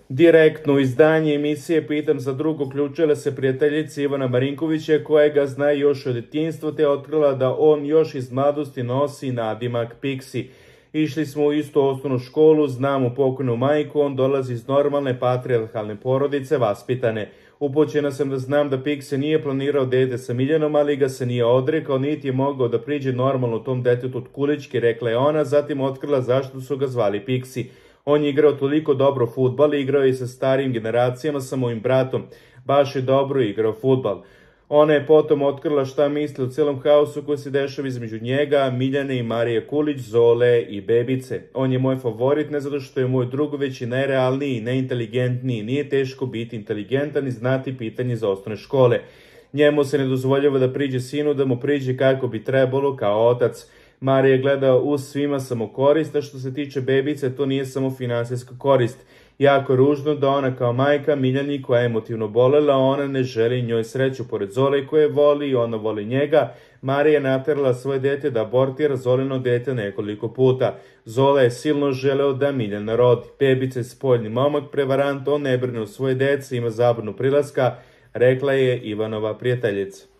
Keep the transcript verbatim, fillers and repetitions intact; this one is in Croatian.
Direktno izdanje emisije Pitam za drugo uključila se prijateljica Ivana Marinkovića koja ga zna još od djetinjstva te otkrila da on još iz mladosti nosi nadimak Piksi. Išli smo u istu osnovnu školu, znamo pokojnu majku, on dolazi iz normalne patrijarhalne porodice, vaspitane. Upućena sam da znam da Piksi nije planirao dete sa Miljanom, ali ga se nije odrekao, niti je mogao da priđe normalno tom detetu od kulički, rekla je ona, zatim otkrila zašto su ga zvali Piksi. On je igrao toliko dobro fudbal, igrao je i sa starijim generacijama, sa mojim bratom. Baš je dobro igrao fudbal. Ona je potom otkrila šta misli o celom haosu koji se dešava između njega, Miljane i Marije Kulić, Zole i bebice. On je moj favorit ne zato što je moj drug, već i najrealniji, najinteligentniji. Nije teško biti inteligentan i znati pitanje za osnovne škole. Njemu se ne dozvoljava da priđe sinu, da mu priđe kako bi trebalo kao otac. Marija gleda uz svima samo korist, a što se tiče bebice, to nije samo finansijska korist. Jako je ružno da ona kao majka Miljani koja je emotivno bolela, ona ne želi njoj sreću pored Zole koje voli i ona voli njega. Marija je naterala svoje dete da abortira Zolino dete nekoliko puta. Zola je silno želeo da Miljana rodi. Bebica je spoljni momak, prevarant, on ne brine o svoje dece, ima zabranu prilaska, rekla je Ivanova prijateljica.